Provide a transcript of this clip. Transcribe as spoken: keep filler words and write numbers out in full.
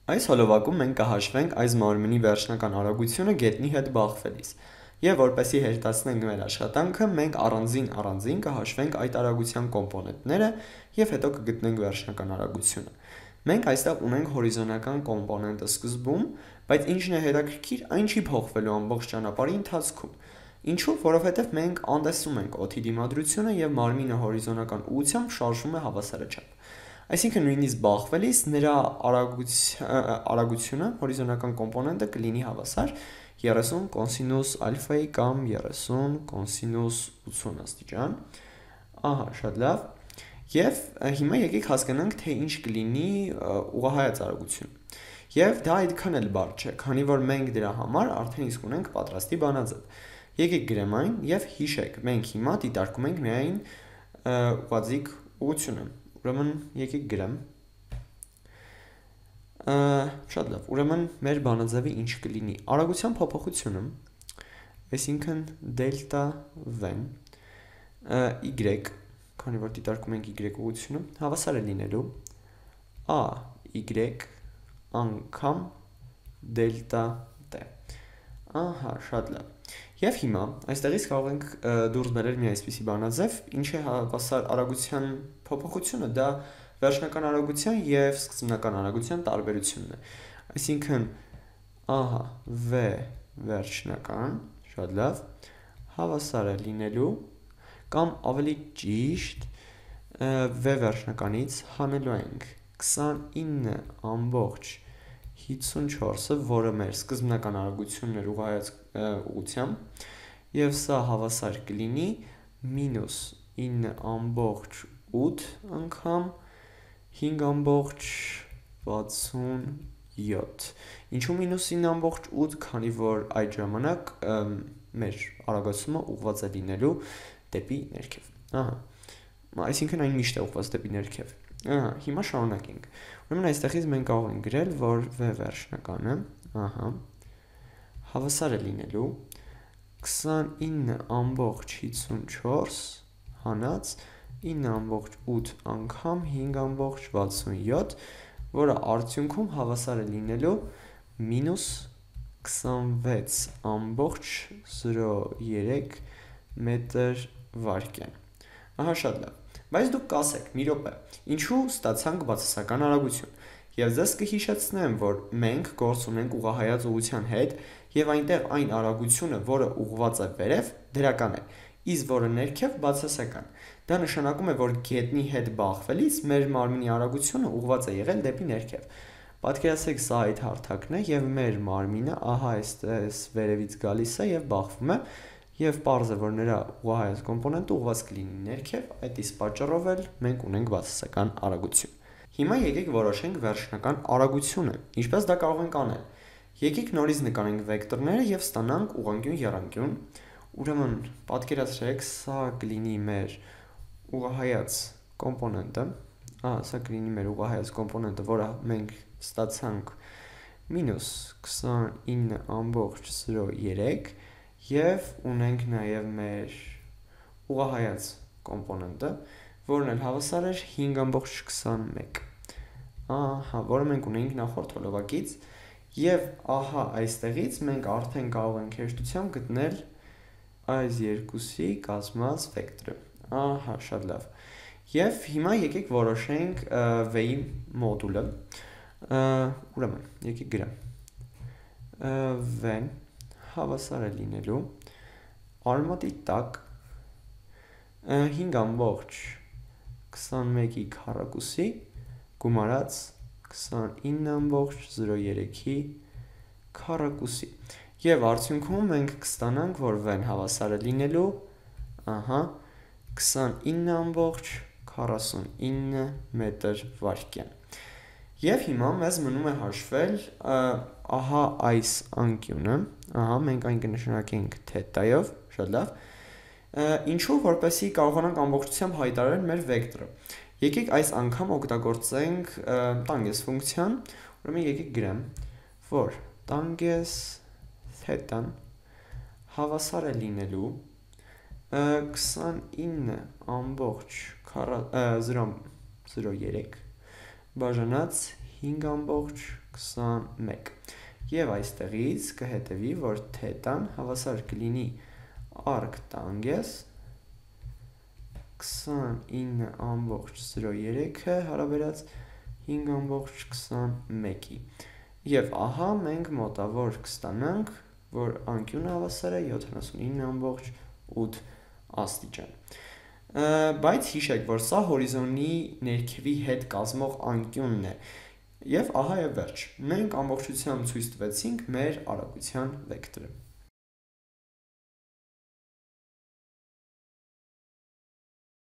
Այս հոլովակում մենք կհաշվենք այս մարմնի վերջնական արագությունը գետնի հետ բախվելիս, և որպեսզի հեշտացնենք մեր աշխատանքը, մենք առանձին-առանձին կհաշվենք այդ արագության կոմպոնենտները և հետո կգտնենք վերջնական արագությունը։ Մենք այստեղ ունենք հորիզոնական կոմպոնենտը սկզբում, բայց ինչն է հետաքրքիր, այն չի փոխվելու ամբողջ ճանապարհի ընթացքում։ Ինչու՞, որովհետև մենք անտեսում ենք օդի դիմադրությունը և մարմինը հորիզոնական ուղղությամբ շարժվում է հավասարաչափ։ Այսինքն նույնիսկ բախվելիս նրա արագությունը, հորիզոնական կոմպոնենտը կլինի հավասար երեսուն կոսինուս ալֆայի կամ երեսուն կոսինուս ութսուն աստիճան։ Ահա, շատ լավ։ Եվ հիմա եկեք հասկանանք, թե ինչ կլինի ուղղահայաց արագությունը։ Եվ դա այդքան էլ բարդ չէ, քանի որ մենք դրա համար արդեն իսկ ունենք պատրաստի բանաձև։ Եկեք գրեմ այն և հիշեք, մենք հիմա դիտարկում ենք միայն ուղղաձիգ ուղղությունը։ Ուրեմն եկեք գրեմ։ Շատ լավ, ուրեմն մեր բանաձևը ինչ կլինի։ Արագության փոփոխությունը, այսինքն դելտա v-ն y, քանի որ դիտարկում ենք y ուղղությունը, հավասար է լինելու a y անգամ դելտա t։ Ահա, շատ լավ։ Եվ հիմա այստեղից կարող ենք դուրս բերել մի այսպիսի բանաձև, ինչ է հավասար արագության փոփոխությունը, դա վերջնական արագության և սկզբնական արագության տարբերությունն է։ Այսինքն, ահա, v վերջնական, շատ լավ, հավասար է լինելու, կամ ավելի ճիշտ, v վերջնականից հանելու ենք քսանինը ամբողջ հիսունչորսը, որը մեր սկզբնական արագությունն էր ուղղահայաց ուղղությամբ, և սա հավասար կլինի մինուս ինը ամբողջ ութ անգամ հինգ ամբողջ վաթսունյոթ։ Ինչու մինուս ինը ամբողջ ութ, քանի որ այդ ժամանակ մեր արագացումը ուղղված է լինելու դեպի ներքև։ Ահա, այսինքն այն միշտ է ուղղված դեպի ներքև։ Ահա, հիմա շարունակենք։ Ուրեմն այստեղից մենք կարող ենք գրել, որ v վերջնականը, ահա, հավասար է լինելու քսանինը ամբողջ հիսունչորս հանած ինը ամբողջ ութ անգամ հինգ ամբողջ վաթսունյոթ, որը արդյունքում հավասար է լինելու մինուս քսանվեց ամբողջ զրո երեք մետր վարկյան։ Ահա, շատ լավ։ Բայց դուք կասեք, մի րոպե, ինչու ստացանք բացասական արագություն։ Եվ ձեզ կհիշեցնեմ, որ մենք գործ ունենք ուղղահայաց ուղղության հետ, և այնտեղ այն արագությունը, որը ուղղված է վերև, դրական է, իսկ որը ներքև բացասական։ Դա նշանակում է, որ գետնի հետ բախվելիս մեր մարմնի արագությունը ուղղված է եղել դեպի ներքև։ Պատկերացրեք, սա այդ հարթակն է, և մեր մարմինը ահա այստեղից վերևից գալիս է և բախվում է, և պարզ է, որ նրա ուղղահայաց կոմպոնենտը ուղղված կլինի ներքև, այդ իսկ պատճառով էլ մենք ունենք բացասական արագություն։ Հիմա եկեք որոշենք վերջնական արագությունը։ Ինչպես դա կարող ենք անել։ Եկեք նորից նկարենք վեկտորները և ստանանք ուղղանկյուն եռանկյուն։ Ուրեմն պատկերացրեք, սա կլինի մեր ուղղահայաց կոմպոնենտը, ահա, սա կլինի մեր ուղղահայաց կոմպոնենտը, որը մենք ստացանք մինուս քսանինը ամբողջ զրո երեք, և ունենք նաև մեր ուղղահայաց կոմպոնենտը, որն էլ հավասար էր հինգ ամբողջ քսանմեկ, ահա, որը մենք ունենք նախորդ հոլովակից, և ահա այստեղից մենք արդեն կարող ենք հեշտությամբ գտնել այս երկուսի կազմած վեկտորը։ Ահա, շատ լավ։ Եվ հիմա եկեք որոշենք v-ի մոդուլը։ Ուրեմն, եկեք գրեմ։ v-ն հավասար է լինելու արմատի տակ հինգ ամբողջ քսանմեկի քառակուսի գումարած քսանինը ամբողջ զրո երեքի քառակուսի։ Եվ արդյունքում մենք կստանանք, որ v-ն հավասար է լինելու, ահա, քսանինը ամբողջ քառասունինը մետր վարկյան։ Եվ հիմա մեզ մնում է հաշվել, ահա այս անկյունը, ահա, մենք այն կնշանակենք թետայով, շատ լավ, ինչու, որպեսզի կարողանանք ամբողջությամբ հայտարարել մեր վեկտորը։ Եկեք այս անգամ օգտագործենք տանգես ֆունկցիան, ուրեմն եկեք գրեմ, որ տանգես թետան հավասար է լինելու քսանինը ամբողջ զրո երեք բաժանած հինգ ամբողջ քսանմեկ։ Եվ այստեղից կհետևի, որ թետան հավասար կլինի arc tangents քսանինը ամբողջ զրո երեքը հարաբերած հինգ ամբողջ քսանմեկի։ Եվ ահա մենք մոտավոր կստանանք, որ անկյունը հավասար է յոթանասունինը ամբողջ ութ աստիճան։ Բայց հիշեք, որ սա հորիզոնի ներքևի հետ կազմող անկյունն է։ Եվ ահա եւ վերջ։ Մենք ամբողջությամբ ցույց տվեցինք մեր արագության վեկտորը։